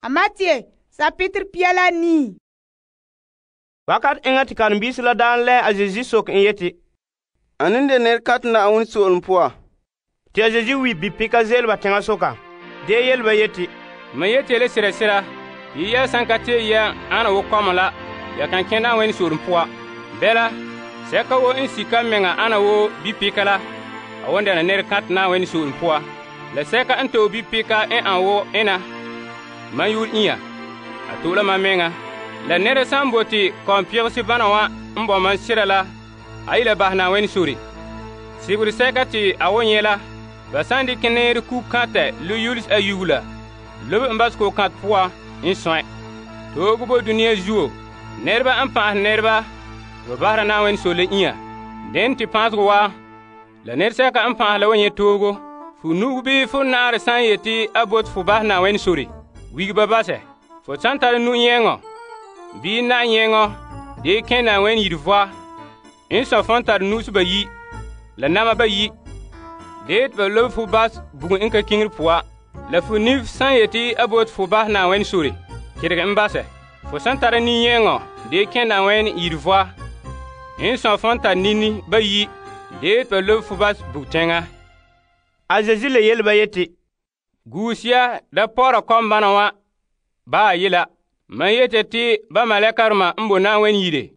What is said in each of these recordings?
A Matthew chapitre 9. Wakat enŋa te karen-biisi la daan lɛ a Yesu soke en yeti, Ane n de nɛrekantɛ Na'ayenɛ so'olom poan? te a Yesu wi bi-pika ze'ele ba teŋa soka. De yele ba yeti, Me yeti le sera sera, yia san ka tee ya ana wo kɔma la, ya kan kẽ Na'ayenɛ so'olom poan. Bɛla, sɛka wo n sika meŋa ana wo bi-pika la, a won dɛna nɛrekantɛ Na'ayenɛ so'olom poan. La sɛka n to'e bi-pika n an wo ena, man yʋʋr inya, a to'e la mam meŋa. La nɛra san bote kɔm-pɛgese bana wa n bɔ mam sera la, a yi la bahɛ Na'ayenɛ sore. Sigere sɛka te a wo nyɛ la, ba san dikɛ nɛɛre ku-kantɛ lo yulehe ayugo la, lobe n basɛ ko-kantɛ poan n sɔe. Toogo bo dunia zuo, nɛreba n pan'ahɛ nɛreba, ba bahera Na'ayenɛ sore la inya. Dene te pãasegɔ wa, la nɛresɛka n pan'ahɛ la wa nyɛ toogo. Fu nu'ugo bii fu naarɛ san yeti a bote fu bahɛ Na'ayenɛ sore, wige ba basɛ. Fu san tare nu-nyɛŋɔ bii na-nyɛŋɔ dee kẽ Na'ayenɛ yire voa, n sɔe fon tare nu'usi bayi la nama bayi, dee te ba lobe fu bas bugum n ka kiŋire poan. La fu nif san yeti a bote fu bahɛ Na'ayenɛ sore, kedege n basɛ. Fu san tare nin-nyɛŋɔ dee kẽ Na'ayenɛ yire voa, n sɔe fon tare nini bayi, dee te ba lobe fu bas bugteŋa. A Yesu le yele ba yeti, Guusia da pɔra kɔmbana wa baa yela. Man yete te ba malɛkarema n bo Na'ayenɛ yire,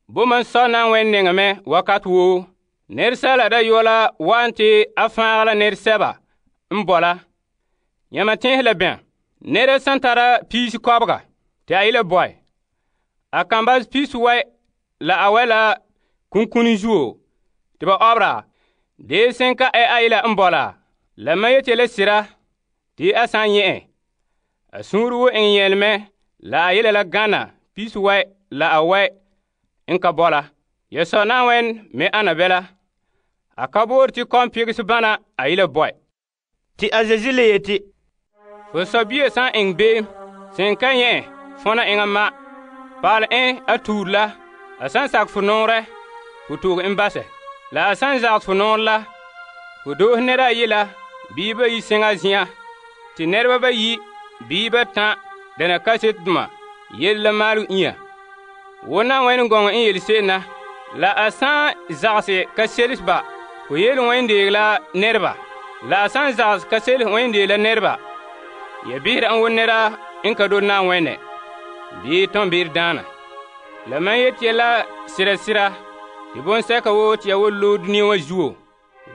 bo man sɔ Na'ayenɛ nɛŋa mɛ wakat woo. Nɛresaala dayɔa la wa'an te a fãag la nɛresɛba n bɔ la. Yãma tẽese la bɛn? Nɛra san tara piisi kɔbega, te a ye la bɔe, a kan bas piisi wɛ la a wɛ la kunkuni zuo te ba ɔbera, dee senka a ye la n bɔ la. La mam yete la sera, te a san nyɛ en, a suunre wo eŋɛ yɛlemɛ la a yele la gana piisi wɛ la a wɛ n ka bɔ la. Ya sɔ Na'ayenɛ me ana bɛla, a ka boore te kɔm-pɛgese bana a ye la bɔe. Te a Yesu le yeti, Fo sɔbia san eŋɛ beem, sen ka nyɛ en fõna eŋa ma, paale en a tuure la. A san sakɛ fo nɔɔrɛ, fo tooge en basɛ. La a san zagɛ fo nɔɔrɛ la, fo doohe nɛra ayi la bii bayi seŋa zen'an, te nɛreba bayi bii batã dɛna kasetedoma yele la maalɛ inya. Wo Na'ayenɛ gɔŋɔ n yele se'em na. La a san zagese ka seles ba, ko yele wẽn deege la nɛreba. La a san zagese ka seles wẽn deege la nɛreba, ya behera n wo nɛra n ka dole Na'ayenɛ, bii tõn be'er daana. La man yeti ya la sera sera, te bonsɛka woo te ya wol loe dunia wa zuo,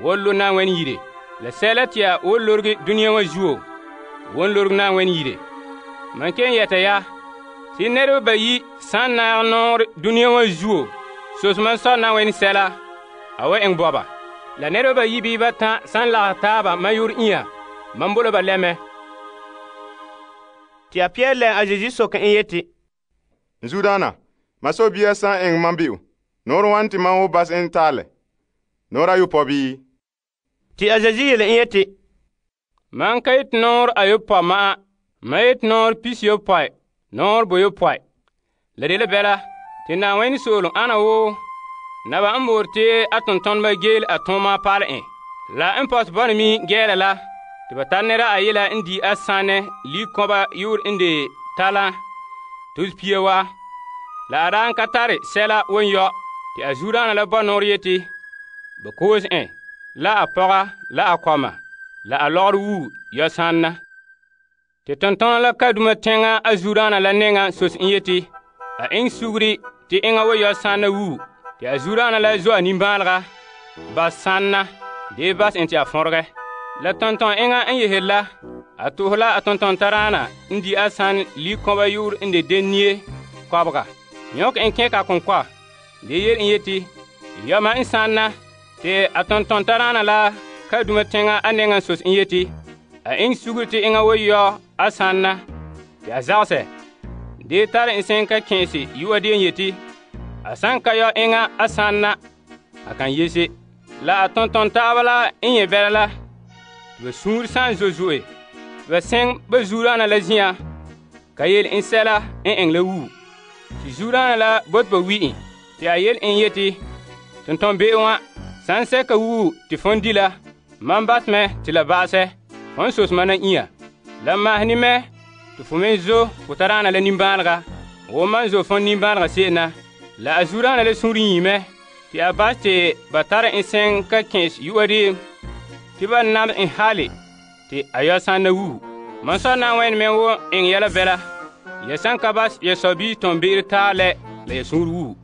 wol lo Na'ayenɛ yire. La sɛla te ya wol lorge dunia wa zuo, won lorge Na'ayenɛ yire. Man ken yɛta ya, te nɛreba bayi san naag nɔɔre dunia wa zuo, sos man sɔ Na'ayenɛ sɛla, a wa eŋ bɔba. La nɛreba bayi bii batã san lagɛ taaba man yʋʋr inya, man bola ba lɛmɛ. Te a Pierre lɛ a Yesu soke en yeti, N zudaana, ma sɔbia san eŋɛ mam be'o, nɔɔrɛ wan te man wo bas en taalɛ? Nɔɔrɛ ayopɔe bii? Te a Yesu yele en yeti, Man ka yeti nɔɔrɛ ayopɔe ma'a, man yeti nɔɔrɛ pisiyopɔe, nɔɔrɛ boyopɔe. La de la bɛla, te Na'ayenɛ soolem ana wo naba n boore te a tontoneba geele a tõoma paale en. La n pɔtɛ bɔna mi gɛɛla la, te ba tara nɛra ayi la n di a sãnɛ likɔba yʋʋr n de talan tos pia wa. La a daan ka tare sɛla won yɔ, te a zudaana la bɔ nɔɔrɛ yeti, ba koose en, la a pɔga, la a kɔma, la a lɔgɔrɛ wuu yɔ sãnna. Te tontona la kaduma tẽŋa a zudaana la nɛŋa sos n yeti, a eŋɛ suguri te eŋa wo yɔ sãnna wuu, te a zudaana la zo'a nimbãalega, bas sãnna, dee bas en te a fõregɛ. La tonton eŋa n yehere la, a to'ohe la a tonton taraana n di a sãn likɔba yʋʋr n de denia kɔbega. Yõk en kẽ ka kõnkɔa, de yel n yeti, yɔma n sãnna, te a tonton taraana la kaduma tẽŋa a nɛŋa sos n yeti, a eŋɛ suguri te eŋa wo yɔ a sãnna, te a zagsɛ, dee tare n sen ka kẽese yu'a de n yeti, a san ka yɔ eŋa a sãnna, a kan yese. La a tonton taaba la n yẽ bɛla la, tɩ ba sũur san zo'e, ba sẽng ba zuuraana la zĩyã, ka yel n sɛla n eŋ la wuu. Tɩ zuuraana la bot ba wi en, tɩ a yel n yeti, tonton be'e wã, san sɛka wuu tɩ fõn di la, mam bas mɛ tɩ la ba'asɛ, fõn sos mana inya. La maahene mɛ te fo me zo fo tadaana la nimbãanega wo mam zo fon nimbãanega se'em na. La a zuodaana la sũur nyie te a bas te ba tara en sɛn ka kɛ'ɛs yu'a deem te ba nabɛ en hale te a yɔ sãnna wuhu. Mam Sɔ Na'ayenɛ me wo eŋɛ ya la bɛla ya san ka bas ya sɔbii tɔnbe'ero taɛ lɛ la ya sũur wuhu.